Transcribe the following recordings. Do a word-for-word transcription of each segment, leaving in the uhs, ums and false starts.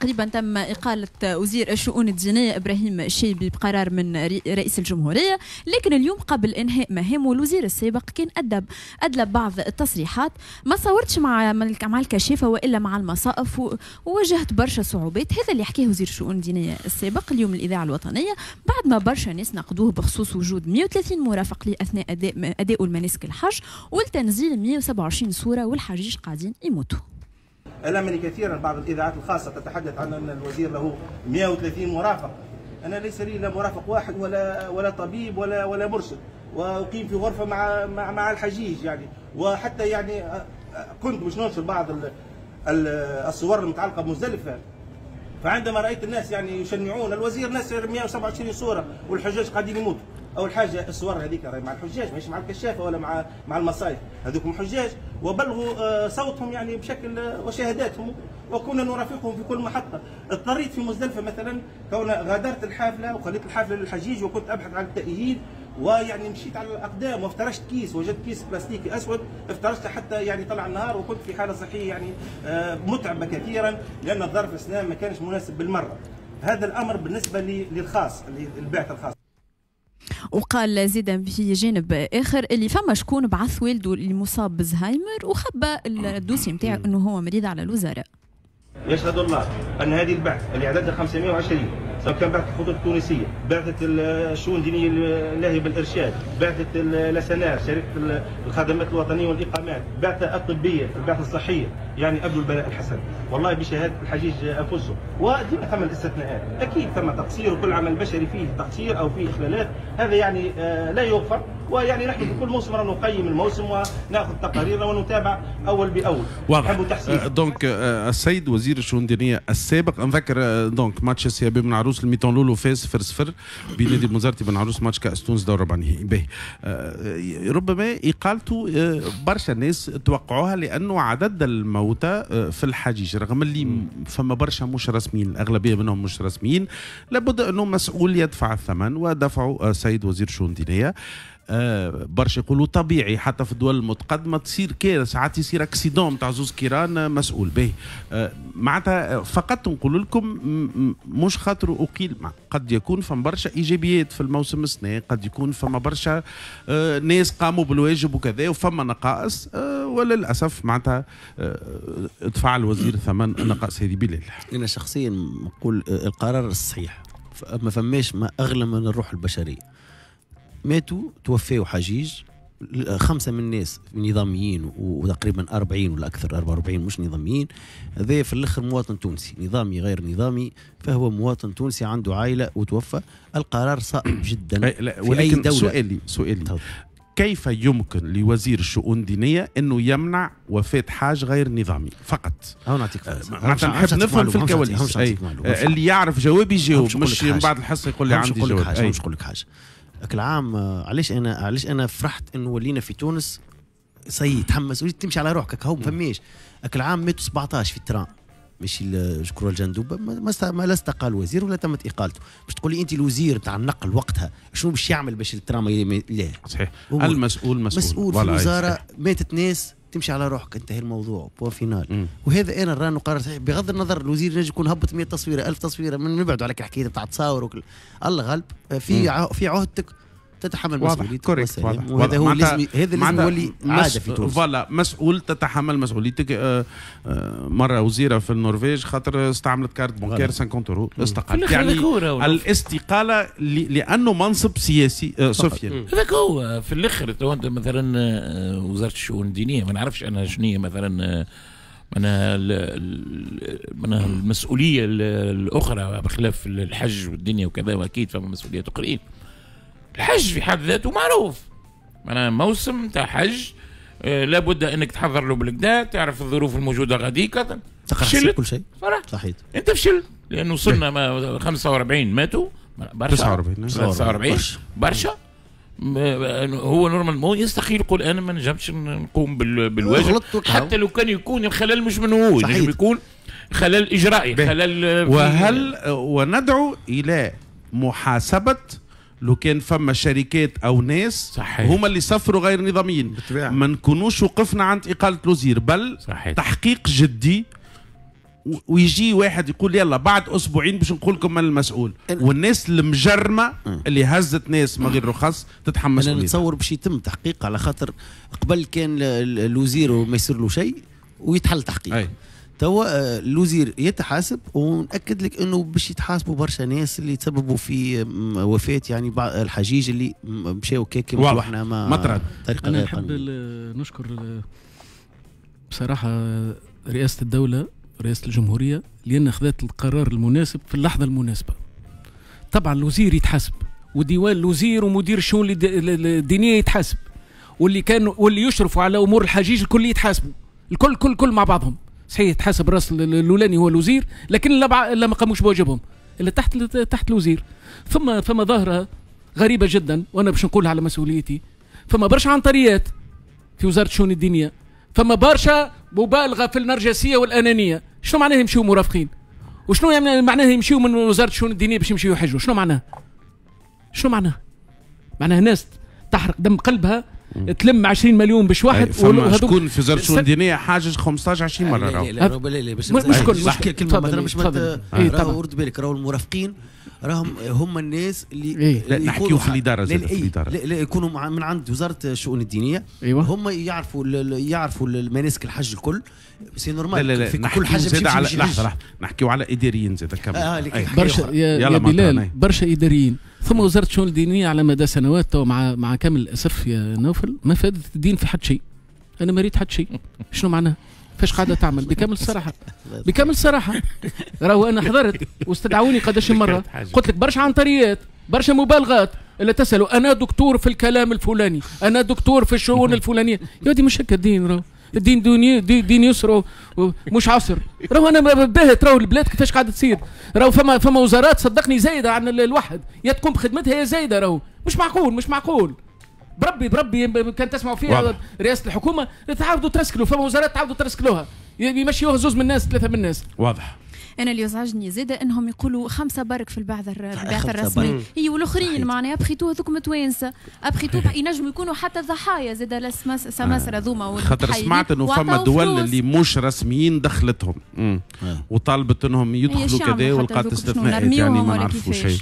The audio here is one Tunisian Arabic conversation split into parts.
تقريبا تم إقالة وزير الشؤون الدينية إبراهيم الشيبي بقرار من رئيس الجمهورية، لكن اليوم قبل إنهاء مهامه الوزير السابق كان أدب أدلب بعض التصريحات ما صورتش مع مع الكشافة وإلا مع المصائف وواجهت برشا صعوبات. هذا اللي حكاه وزير الشؤون الدينية السابق اليوم الإذاعة الوطنية بعد ما برشا ناس نقدوه بخصوص وجود مئة وثلاثين مرافق ليه أثناء أداء أداء المناسك الحج والتنزيل مئة وسبعة وعشرين صورة والحجيج قاعدين يموتوا. ألمني كثيرا بعض الإذاعات الخاصة تتحدث عن أن الوزير له مئة وثلاثين مرافق. أنا ليس لي لا مرافق واحد ولا ولا طبيب ولا ولا مرشد، وأقيم في غرفة مع مع, مع الحجيج يعني. وحتى يعني كنت باش ننشر بعض الصور المتعلقة بمزدلفة، فعندما رأيت الناس يعني يشنعون الوزير نشر مئة وسبعة وعشرين صورة والحجاج قاعدين يموتوا. اول حاجة الصور هذيك راهي مع الحجاج، ماهيش مع الكشافه ولا مع مع المصايف، هذوكم حجاج وبلغوا صوتهم يعني بشكل وشهاداتهم، وكنا نرافقهم في كل محطة. اضطريت في مزدلفة مثلا كون غادرت الحافلة وخليت الحافلة للحجيج وكنت ابحث عن التأهيل، ويعني مشيت على الاقدام وافترشت كيس، وجدت كيس بلاستيكي اسود افترشته حتى يعني طلع النهار، وكنت في حاله صحية يعني متعبة كثيرا لان الظرف الاسلام ما كانش مناسب بالمرة. هذا الامر بالنسبة للخاص للبعث الخاص. وقال زيدا في جانب اخر اللي فما شكون بعث والده اللي مصاب بزهايمر وخبى ال dossier نتاعو انه هو مريض على الوزراء. يشهد الله ان هذه البعث اللي عددها خمسمئة وعشرين، سواء كان بعثه الخطوط التونسية، بعثه الشؤون الدينية اللاهية بالارشاد، بعثه الاسنار شركة الخدمات الوطنية والاقامات، بعثه الطبية، البعثة الصحية، يعني ابدوا البلاء الحسن والله بشهادة الحجيج انفسهم. وديما ثم الاستثناءات، اكيد ثم تقصير وكل عمل بشري فيه تقصير او فيه اخلالات، هذا يعني لا يغفر. ويعني نحن في كل موسم نقيم الموسم وناخذ تقاريرنا ونتابع اول باول. واضح. donc السيد وزير الشؤون الدينية السابق نذكر donc match CAB بن عروس ال mi-temps لولو فاز صفر صفر بنادي بنزرتي بن عروس ماتش كاس تونس دور ربع نهائي. باهي ربما اقالته برشا ناس توقعوها لانه عدد الموتى في الحجيج رغم اللي فما برشا مش رسميين، الاغلبية منهم مش رسميين، لابد انه مسؤول يدفع الثمن ودفعه السيد وزير الشؤون الدينية. آه برشا يقولوا طبيعي حتى في الدول المتقدمة تصير كارثة، ساعات يصير accident تاع زوز كيران مسؤول به. آه معناتها فقط نقول لكم مش خاطر اقيل، قد يكون فما برشا ايجابيات في الموسم السنة، قد يكون فما برشا آه ناس قاموا بالواجب وكذا وفما نقائص، آه وللاسف معناتها آه دفع الوزير ثمن النقائص هذه بلال. انا شخصيا نقول القرار الصحيح، ما فماش ما اغلى من الروح البشرية. ماتوا توفوا حجيج خمسة من الناس نظاميين وتقريبا أربعين ولا أكثر أربعة وأربعين مش نظاميين. هذا في الآخر مواطن تونسي نظامي غير نظامي، فهو مواطن تونسي عنده عائلة وتوفى. القرار صائب جدا. لا في أي دولة. سؤالي سؤالي طب. كيف يمكن لوزير الشؤون الدينية أنه يمنع وفاة حاج غير نظامي فقط؟ أو نعطيك معناتها نحب نفهم في الكواليس. اللي يعرف جوابي يجاوب، مش من بعد الحصة يقول لي عندي جواب. مش نقول لك حاجة. العام علاش انا علاش انا فرحت انه ولينا في تونس سي تحمس وليت تمشي على روحك هو ما فماش. العام ماتوا سبعطاش في ال train ماشي شكرا الجندوبه ما, ما لا استقال وزير ولا تمت اقالته. باش تقول لي انت الوزير تاع النقل وقتها شنو باش يعمل باش ال train ما لا صحيح. المسؤول مسؤول مسؤول في الوزارة. ماتت ناس تمشي على روحك، انتهى الموضوع point final. وهذا انا رانو قرار صحيح بغض النظر الوزير ينجم يكون هبط مئة تصويره ألف تصويره من نبعدوا على الحكاية نتاع تصاور وكل الله غالب في ع... في عهدتك تتحمل مسؤوليتك. وهذا هو لازم هذا لازم يولي عادة في تونس. voilà مسؤول تتحمل مسؤوليتك. آه آه مرة وزيره في النرويج خاطر استعملت carte bancaire خمسين اورو استقالت. يعني الاستقالة لانه منصب سياسي. آه سفيان هذاك هو في الاخر. تو انت مثلا وزارة الشؤون الدينية ما نعرفش انا شنو هي مثلا معناها معناها المسؤولية الاخرى بخلاف الحج والدنيا وكذا، واكيد فما مسؤوليات اخرين. الحج في حد ذاته معروف، معناها موسم تاع حج آه لابد انك تحضر له بالكدا، تعرف الظروف الموجودة غاديك، تقرا كل شيء. صحيح انت فشلت لانه وصلنا ما خمسة وأربعين ماتوا برشا تسعة وأربعين تسعة وأربعين برشا. هو normalement يستحيل يقول انا ما نجمش نقوم بالواجب حتى لو كان يكون الخلل مش من هو، ينجم يكون خلل اجرائي خلل. وهل وندعو الى محاسبه لو كان فما شركات او ناس صحيح. هما اللي سافروا غير نظاميين، ما نكونوش وقفنا عند اقاله الوزير، بل صحيح. تحقيق جدي ويجي واحد يقول يلا بعد اسبوعين باش نقول لكم من المسؤول، والناس المجرمة اللي هزت ناس من غير رخص تتحمل مسؤوليتها. انا نتصور باش يتم تحقيق، على خاطر قبل كان الوزير وما يصير له شيء ويتحل تحقيق. أي. توا الوزير يتحاسب، ونأكد لك انه باش يتحاسبوا برشا ناس اللي تسببوا في وفاة يعني بعض الحجيج اللي مشاو كيك واحنا ما مطرد. انا نحب نشكر بصراحة رئاسة الدولة، رئاسة الجمهورية، لأن أخذت القرار المناسب في اللحظة المناسبة. طبعا الوزير يتحاسب، وديوان الوزير ومدير الشؤون الدينية يتحاسب، واللي كانوا واللي يشرفوا على أمور الحجيج الكل يتحاسبوا، الكل كل كل مع بعضهم. صحيح يتحاسب الراس الأولاني هو الوزير، لكن لا ما قاموش بواجبهم اللي تحت تحت الوزير. ثم ثم ظاهرة غريبة جدا، وأنا باش نقولها على مسؤوليتي، فما برشا عنتريات في وزارة الشؤون الدينية، فما برشا مبالغة في النرجسية والأنانية. شنو معناه يمشيو مرافقين؟ وشنو يعني معناه يمشيو من وزارة الشؤون الدينية باش يمشيو يحجوا؟ شنو معناه؟ شنو معناه؟ معناه ناس تحرق دم قلبها تلم عشرين مليون باش واحد. فما شكون في وزارة الشؤون الدينية حاجز خمسطاش عشرين مرة؟ لا لا لا لا باش مش كل مش كلمة مثلا باش راهو رد بالك، راهو المرافقين راهم هم الناس اللي إيه؟ لا نحكيو في الادارة زاد، في الادارة لا, لا يكونوا من عند وزارة الشؤون الدينية. أيوة. هم يعرفوا يعرفوا المناسك الحج الكل، c'est normal. لا لا لا في كل حاجة على لحظة لحظة نحكيو على اداريين زاد كمل. آه برشا يا, يا بلال، برشا اداريين. ثم وزارة الشؤون الدينية على مدى سنوات تو مع مع كامل الاسف يا نوفل ما فادت الدين في حد شيء. انا ما ريت حد شيء. شنو معناه؟ فاش قاعدة تعمل؟ بكامل الصراحة، بكامل الصراحة راهو انا حضرت واستدعوني قداش مرة، قلت لك برشا عنتريات، برشا مبالغات، اللي تسالوا انا دكتور في الكلام الفلاني، انا دكتور في الشؤون الفلانية. يا ودي مش هكا الدين، راهو الدين دنيا دي دين يسر مش عسر. راهو انا باهت، راهو البلاد كيفاش قاعدة تصير، راهو فما فما وزارات صدقني زايدة عن الواحد، يا تقوم بخدمتها يا زايدة، راهو مش معقول، مش معقول. بربي بربي كان تسمعوا فيها رئاسة الحكومة تعاودوا ترسكلوا، فما وزارات تعاودوا ترسكلوها، يمشيوها زوز من الناس، ثلاثة من الناس. واضح. انا اللي يزعجني زاده انهم يقولوا خمسة برك في البعث البعث الرسمي، هي والاخرين معناها après tout هذوك متوانسة، après tout ينجموا يكونوا حتى ضحايا زاده السماسره ذوما. خاطر سمعت انه فما دول اللي مش رسميين دخلتهم آه. وطالبت انهم يدخلوا كذا ولقات استثناءات، يعني ما نعرفوا شيء.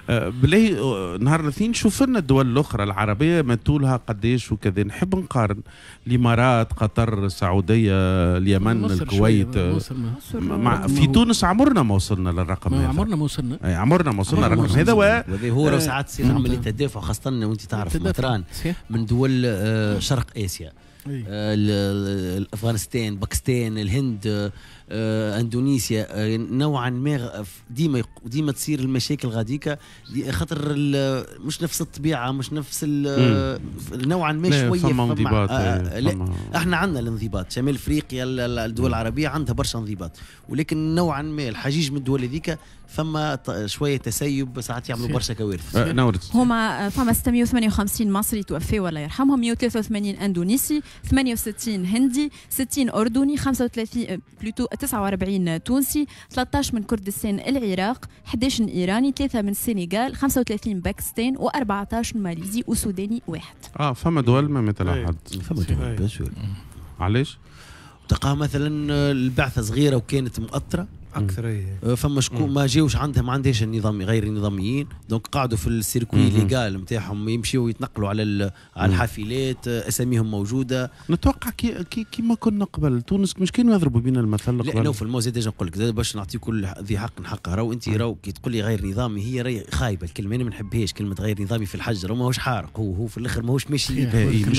بالله نهار الاثنين شوف لنا الدول الاخرى العربية ماتولها قداش وكذا، نحب نقارن الامارات، قطر، السعودية، اليمن، الكويت. مصر مع في تونس عمرنا ما وصلنا للرقم هذا، عمرنا ما وصلنا، اي عمرنا ما وصلنا للرقم هذا. وهذا هو ساعات تصير عملية تدافع، خاصة وانت تعرف مطران من دول شرق اسيا، افغانستان، باكستان، الهند، اندونيسيا، نوعا ما ديما ديما تصير المشاكل غاديكا، خاطر مش نفس الطبيعة، مش نفس نوعا ما شوية فما انضباط. آه احنا عندنا الانضباط، شمال افريقيا الدول العربية عندها برشا انضباط، ولكن نوعا ما الحجيج من الدول هذيك فما شوية تسيب، ساعات يعملوا برشا كوارث. هما فما ستمية وثمانية وخمسين مصري توفي ولا يرحمهم، مية وثلاثة وثمانين اندونيسي، ثمانية وستين هندي، ستين اردني، خمسة وثلاثين plutôt تسعة وأربعين تونسي، ثلاثة عشر من كردستان العراق، أحد عشر ايراني، ثلاثة من السنغال، خمسة وثلاثين باكستان، وأربعة عشر ماليزي وسوداني واحد. اه فما دول ما مثل حد. فما دول bien sûr. علاش؟ تلقاها مثلا البعثة صغيرة وكانت مؤطره اكثر، إيه. فما شكون ما جاوش عندها، ما عندهاش النظام، غير النظاميين، donc قعدوا في ال circuit légal نتاعهم، يمشيو يتنقلوا على على الحافلات، اساميهم موجودة. نتوقع كي كي كيما كنا قبل تونس مش كانوا يضربوا بينا المثل قبل. لا نوفل مو زاد نقول لك باش نعطي كل ذي حق حقه، راهو انت راهو كي تقول لي غير نظامي هي راهي خايبة الكلمة، انا ما نحبهاش كلمة غير نظامي في الحج، راهو ماهوش حارق، هو هو في الاخر ماهوش ماشي،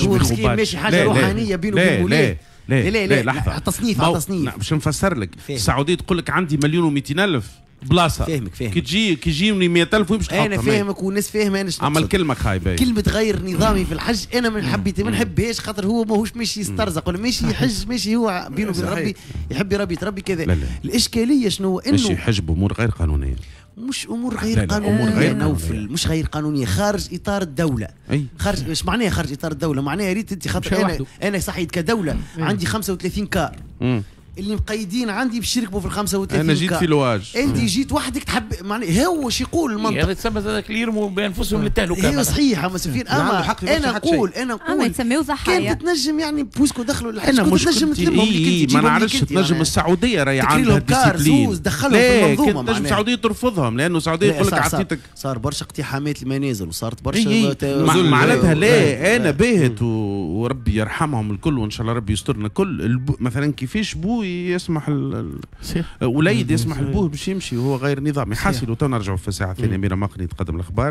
هو مسكين ماشي حاجة روحانية بينه وبين مولاه. لا لا لا لحظة، تصنيف على تصنيف باش نفسر لك. السعودية تقول لك عندي مليون ومئتين ألف بلاصة، فاهمك فاهمك، كي تجي كي يجيوني مئة ألف وين باش تحطها؟ انا فاهمك والناس فاهمه. انا عمل كلمة خايبة، كلمة غير نظامي في الحج انا ما حبيت ما نحبهاش، خاطر هو ماهوش ماشي يسترزق ولا ماشي يحج، ماشي هو بينه وبين ربي، يحب ربي يتربي كذا. الاشكالية شنو؟ انه ماشي يحج بامور غير قانونية، مش امور غير قانونية، امور غير نوفل، مش غير قانونية، خارج اطار الدولة. أي. خارج، ايش معناها خارج اطار الدولة؟ معناها ريت انت خاطر انا انا صحيت كدولة أي. عندي خمسة وثلاثين car. مم. اللي مقيدين عندي باش يركبوا في ال خمسة وثلاثين. انا جيت في لواج، انت جيت وحدك تحب معناها هو شو يقول المنطق هذا تسمى هذاك اللي يرموا بانفسهم للتهلكه. هي صحيح اما سفيان، اما انا نقول انا نقول يتسميو ضحايا. كانت تنجم يعني puisque دخلوا الحج انا تنجم تلمهم. إيه ما نعرفش، تنجم السعودية راهي عندها discipline، دخلهم في المنظومة. تنجم السعودية ترفضهم لانه السعودية يقول لك عطيتك. صار برشا اقتحامات المنازل وصارت برشا معناتها. لا انا باهت وربي يرحمهم الكل وان شاء الله ربي يسترنا الكل. مثلا كيفاش بو يسمح وليد يسمح لبوه باش يمشي وهو غير نظامي؟ حاصل وتو نرجعوا في الساعة الثانيه. ميرا مقني تقدم الاخبار.